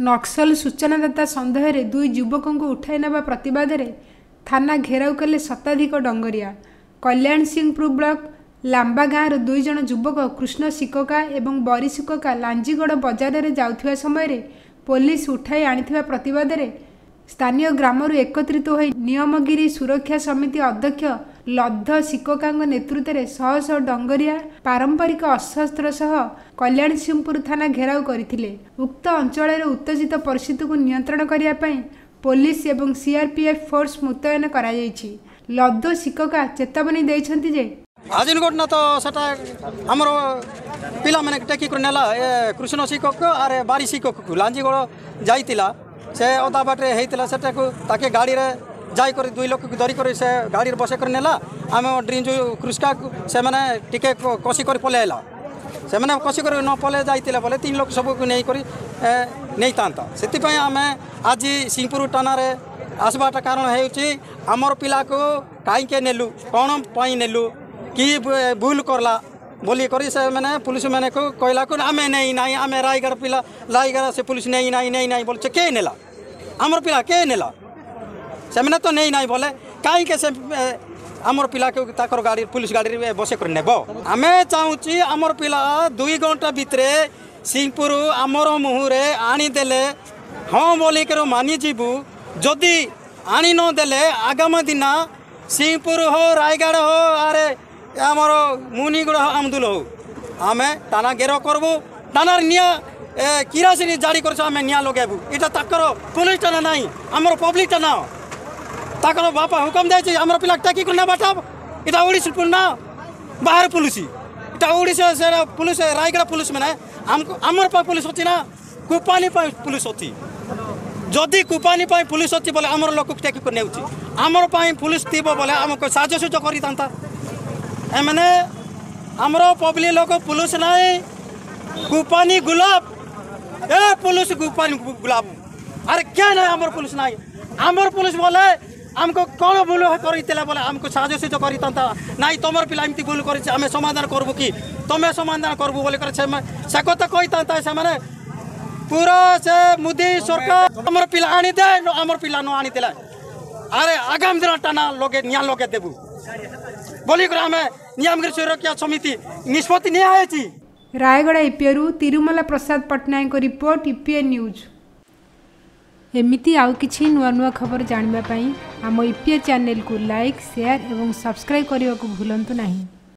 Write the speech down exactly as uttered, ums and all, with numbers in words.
ନକ୍ସଲ ସୂଚନାଦାତା ସନ୍ଦେହରେ ଦୁଇ ଯୁବକଙ୍କୁ ଉଠାଇ ନେବା ପ୍ରତିବାଦରେ ଥାନା ଘେରାଉ କଲେ ଶତାଧିକ ଡଙ୍ଗରିଆ। କଲ୍ୟାଣସିଂହପୁର ବ୍ଲକ ଲାମ୍ବା ଗାଁର ଦୁଇ ଜଣ ଯୁବକ କୃଷ୍ଣ ସିକକା ଏବଂ ବରି ସିକକା ଲାଞ୍ଜିଗଡ଼ ବଜାରରେ ଯାଉଥିବା ସମୟରେ ପୋଲିସ ଉଠାଇ ଆଣିଥିବା ପ୍ରତିବାଦରେ ସ୍ଥାନୀୟ ଗ୍ରାମରୁ ଏକତ୍ରିତ ହୋଇ ନିୟମଗିରି ସୁରକ୍ଷା ସମିତି ଅଧ୍ୟକ୍ଷ ଲବ୍ଧ ସିକକାଙ୍କ ନେତୃତ୍ୱରେ ଶହ ଶହ ଡଙ୍ଗରିଆ ପାରମ୍ପରିକ ଅସ୍ତ୍ରଶସ୍ତ୍ର ସହ କଲ୍ୟାଣସିଂହପୁର ଥାନା ଘେରାଉ କରିଥିଲେ। ଉକ୍ତ ଅଞ୍ଚଳରେ ଉତ୍ତେଜିତ ପରିସ୍ଥିତିକୁ ନିୟନ୍ତ୍ରଣ କରିବା ପାଇଁ ପୋଲିସ ଏବଂ ସିଆର୍ପିଏଫ୍ ଫୋର୍ସ ମୁତୟନ କରାଯାଇଛି। ଲବ୍ଧ ସିକକା ଚେତାବନୀ ଦେଇଛନ୍ତି ଯେ ଆଜିନ ଘଟଣା ତ ସେଟା ଆମର ପିଲାମାନେ ଟେକିକରି ନେଲା ଏ କୃଷ୍ଣ ଶିକ୍ଷକ ଆରେ ବାରି ଶିକ୍ଷକକୁ ଲାଞ୍ଜିଗଡ଼ ଯାଇଥିଲା। ସେ ଅଧା ବାଟରେ ହେଇଥିଲା, ସେଟାକୁ ତାକେ ଗାଡ଼ିରେ ଯାଇକରି ଦୁଇ ଲୋକକୁ ଧରିକରି ସେ ଗାଡ଼ିରେ ବସେଇ କରି ନେଲା। ଆମ ଡ୍ରିଞ୍ଜୁ କୃଷ୍କାକୁ ସେମାନେ ଟିକେ କଷି କରି ପଳେଇ ଆଇଲା। ସେମାନେ କଷି କରି ନ ପଳେଇ ଯାଇଥିଲେ ବୋଲେ ତିନି ଲୋକ ସବୁକୁ ନେଇକରି ନେଇଥାନ୍ତା। ସେଥିପାଇଁ ଆମେ ଆଜି ସିଂହପୁର ଥାନାରେ ଆସିବାଟା କାରଣ ହେଉଛି, ଆମର ପିଲାକୁ କାହିଁକି ନେଲୁ, କ'ଣ ପାଇଁ ନେଲୁ, କି ଭୁଲ କଲା ବୋଲିକରି ସେମାନେ ପୁଲିସ ମାନଙ୍କୁ କହିଲାକୁ ଆମେ ନେଇ ନାହିଁ, ଆମେ ରାୟଗଡ଼ ପିଲା, ରାୟଗଡ଼ା ସେ ପୁଲିସ ନେଇ ନାହିଁ, ନେଇ ନାହିଁ ବୋଲୁଛେ। କିଏ ନେଲା ଆମର ପିଲା? କିଏ ନେଲା? ସେମାନେ ତ ନେଇ ନାହିଁ ବୋଲେ କାହିଁକି ସେ ଆମର ପିଲାକୁ ତାଙ୍କର ଗାଡ଼ି ପୁଲିସ ଗାଡ଼ିରେ ବସେଇ କରି ନେବ? ଆମେ ଚାହୁଁଛି ଆମର ପିଲା ଦୁଇ ଘଣ୍ଟା ଭିତରେ ସିଂହପୁର ଆମର ମୁହଁରେ ଆଣିଦେଲେ ହଁ ବୋଲିକରି ମାନିଯିବୁ। ଯଦି ଆଣି ନଦେଲେ ଆଗାମୀ ଦିନ ସିଂହପୁର ହଉ, ରାୟଗଡ଼ ହଉ, ଆରେ ଆମର ମୁନିଗୁଡ଼ା ହଉ, ଆମଦୁଲ ହଉ, ଆମେ ଥାନା ଘେର କରିବୁ। ଥାନାରେ ନିଆଁ କିରାସିନି ଜାରି କରିଛୁ, ଆମେ ନିଆଁ ଲଗାଇବୁ। ଏଇଟା ତାଙ୍କର ପୁଲିସଟା ନା ନାହିଁ, ଆମର ପବ୍ଲିକଟା ନା। ତାଙ୍କର ବାପା ହୁକମ ଦେଇଛି ଆମର ପିଲା ଟେକି କରି ନେବାଟା। ଏଇଟା ଓଡ଼ିଶା ନା ବାହାର ପୁଲିସ? ଏଇଟା ଓଡ଼ିଶା ସେ ପୁଲିସ, ରାୟଗଡ଼ା ପୁଲିସ ମାନେ ଆମକୁ ଆମର ପାଇଁ ପୁଲିସ ଅଛି ନା କୁପାନୀ ପାଇଁ ପୁଲିସ ଅଛି? ଯଦି କୁପାନୀ ପାଇଁ ପୁଲିସ ଅଛି ବୋଲେ ଆମର ଲୋକକୁ ଟେକି କରି ନେଉଛି। ଆମର ପାଇଁ ପୁଲିସ ଥିବ ବୋଲେ ଆମକୁ ସାହାଯ୍ୟ ସୁଯୋଗ କରିଥାନ୍ତା। ଏମାନେ ଆମର ପବ୍ଲିକ ଲୋକ ପୁଲିସ ନାହିଁ, କୁପାନୀ ଗୁଲାମ। ଏ ପୁଲିସ କୁପାନୀ ଗୁଲାମ। ଆରେ କିଏ ନାହିଁ? ଆମର ପୁଲିସ ନାହିଁ। ଆମର ପୁଲିସ ବୋଲେ ଆମକୁ କ'ଣ ଭୁଲ କରିଥିଲା ବୋଲେ ଆମକୁ ସାହାଯ୍ୟ ସୁଯୋଗ କରିଥାନ୍ତା। ନାଇଁ, ତମର ପିଲା ଏମିତି ଭୁଲ କରିଛି, ଆମେ ସମାଧାନ କରିବୁ କି ତମେ ସମାଧାନ କରିବୁ ବୋଲି କରି ସେ କଥା କହିଥାନ୍ତା। ସେମାନେ ପୁରା ସେ ମୋଦି ସରକାର ଆମର ପିଲା ଆଣିଦେ, ଆମର ପିଲା ନ ଆଣିଦେଲେ ଆରେ ଆଗାମୀ ଦିନ ଥାନା ଲଗେଇ ନିଆଁ ଲଗେଇ ଦେବୁ ବୋଲିକରି ଆମେ ନିୟମଗିରି ସୁରକ୍ଷା ସମିତି ନିଷ୍ପତ୍ତି ନିଆହେଇଛି। ରାୟଗଡ଼ା ଇପିଏରୁ ତିରୁମଲା ପ୍ରସାଦ ପଟ୍ଟନାୟକଙ୍କ ରିପୋର୍ଟ, ଇପିଏ ନ୍ୟୁଜ୍। ଏମିତି ଆଉ କିଛି ନୂଆ ନୂଆ ଖବର ଜାଣିବା ପାଇଁ ଆମ ଇପିଏ ଚ୍ୟାନେଲକୁ ଲାଇକ୍, ସେୟାର ଏବଂ ସବସ୍କ୍ରାଇବ୍ କରିବାକୁ ଭୁଲନ୍ତୁ ନାହିଁ।